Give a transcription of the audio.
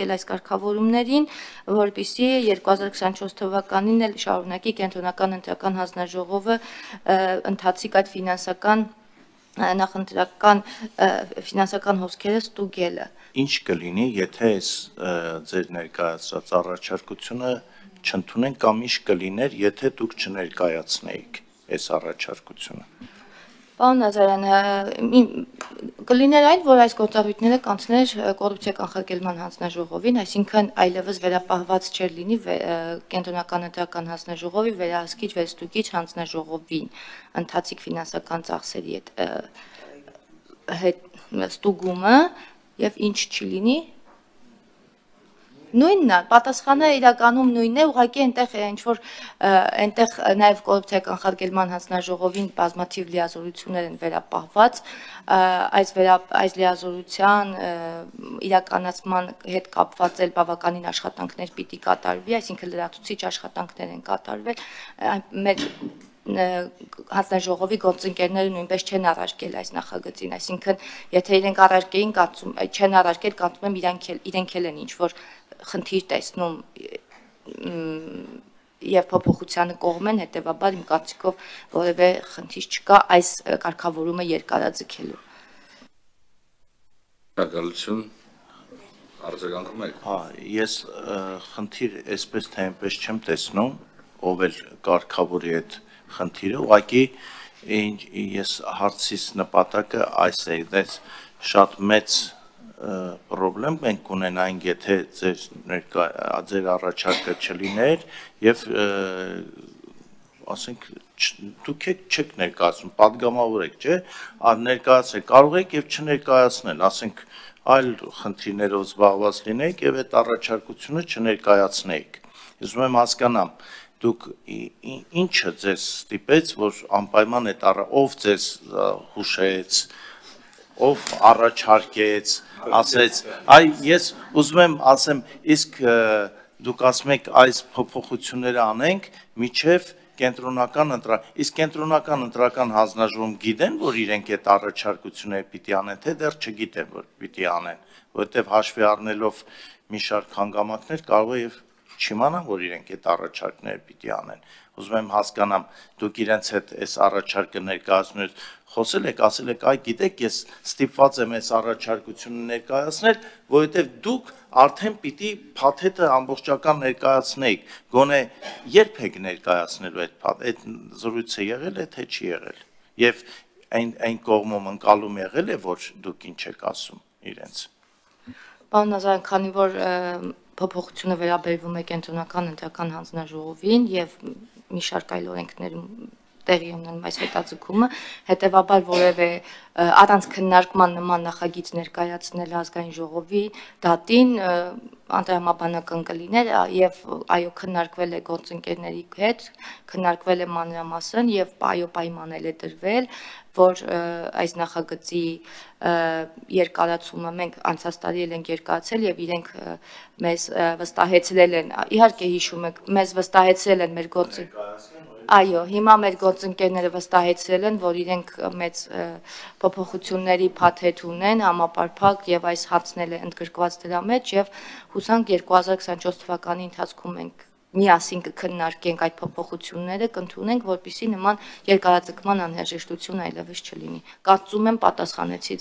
այս կարգավորումներին, որպեսզի 2024 թվականին էլ շարունակի կենտրոնական ընտրական հանձնաժողովը ընթացիկ այդ ֆինանսական հոսքերը ստուգելը։ Ինչ կլինի, եթե այս ձեր ներկայացրած առաջարկությունը չընդունեն, կամ ինչ կլիներ, եթե դուք չներկայացնեիք այս առաջարկությունը։ Պարոն Նազարյան, կլիներ այն, որ այս գործառույթները կանցներ կոռուպցիա կանխարգելման հանձնաժողովին, այսինքն այլևս վերապահված չէր լինի կենտրոնական ընտրական հանձնաժողովի վերահսկիչ վերստուգիչ հանձնաժողովին, ընթացիկ ֆինանսական ծախսերի հետ ստուգումը եւ ինչ չի լինի։ Նույնն է, պատասխանը իրականում նույնն է, ուղղակի այնտեղ նաև կոռուպցիա կանխարգելման հանձնաժողովին բազմաթիվ լիազորություններ են վերապահված, այս լիազորության իրականացման հետ կապված էլ բավականին աշխատանքներ պիտի կատարվի, այսինքն լրացուցիչ աշխատանքներ են կատարվել, մեր հանձնաժողովի գործընկերները նույնպես չեն առարկել այս նախագծին, այսինքն եթե իրենք առարկեին չեն առարկել, կարծում եմ իրենք էլ են ինչ-որ խնդիր տեսնում եւ փոփոխությանը կողմ են, հետեւաբար իմ կարծիքով որևէ խնդիր չկա այս կարգավորումը երկարաձգելու։ Շնորհակալություն, արձագանքում եք։ Ես խնդիր այսպես թե այնպես չեմ տեսնում, ով էլ կարգավորի այդ խնդիրը, ուղղակի ես հարցիս նպատակը այս է, դες շատ մեծ պրոբլեմ մենք ունենայինք, եթե ձեր առաջարկը չլիներ եւ ասենք դուք չեք ներկայացնում, падգամավոր եք, չէ՞, ներկայացնել կարող եք եւ չներկայացնել, ասենք այլ խնդիրներով զբաղված լինեիք եւ այդ առաջարկությունը չներկայացնեիք։ Ես ուզում եմ հասկանամ, դուք ինչը ձեզ ստիպեց, որ անպայման ով ձեզ հուշեց, ով առաջարկեց, ասեց, ես ուզում եմ ասեմ, իսկ դուք ասում եք այս փոփոխությունները անենք, միջև իսկ կենտրոնական ընտրական հանձնաժողովում գիտեն, որ իրենք այդ առաջարկությունները պիտի անեն, թե դեռ չգիտեն, որ պիտի անեն, որովհետև հաշվի առնելով մի շարք հանգամանքներ կարող է եւ չիմանան, որ իրենք այդ առաջարկները պիտի անեն։ Ուզում եմ հասկանամ, դուք իրենց հետ այս առաջարկը ներկայացնելուց խոսել եք, ասել եք, գիտեք, ես ստիպված եմ այս առաջարկությունը ներկայացնել, որովհետև դուք արդեն պիտի փաթեթը ամբողջական ներկայացնեիք, գոնե երբ եք ներկայացնելու այդ զրույցը եղել է, թե չի եղել, եւ այն կողմում ընկալում եղել է, որ դուք ինչ եք ասում իրենց։ Պարոն Նազարյան, քանի որ փոփոխությունը վերաբերվում է կենտրոնական ընտրական հանձնաժողովին եւ մի շարք այլ օրենքներում տեղի ունենում այս հետաձգումը, հետեւաբար որևէ առանց քննարկման նման նախագիծ ներկայացնել ազգային ժողովի դատին անտրամաբանական կլիներ եւ այո քննարկվել է գործընկերների հետ, քննարկվել է մանրամասն եւ այո պայմանել է դրվել, որ այս նախագծի երկարացումը մենք անցած տարի ենք երկարացել եւ իրենք մեզ վստահեցրել են, իհարկե հիշում եք, մեզ վստահեցրել են մեր Այո, հիմա մեր գործընկերները վստահեցրել են, որ իրենք մեծ փոփոխությունների փաթեթ ունեն, համապարփակ եւ այս հարցն է ընդգրկված դրա մեջ եւ հուսանք 2024 թվականի ընթացքում մենք միասին կքննարկենք այդ փոփոխությունները, կընդունենք, որպեսզի նման երկարաձգման անհրաժեշտություն այլևս չլինի։ Կարծում եմ պատասխանեցի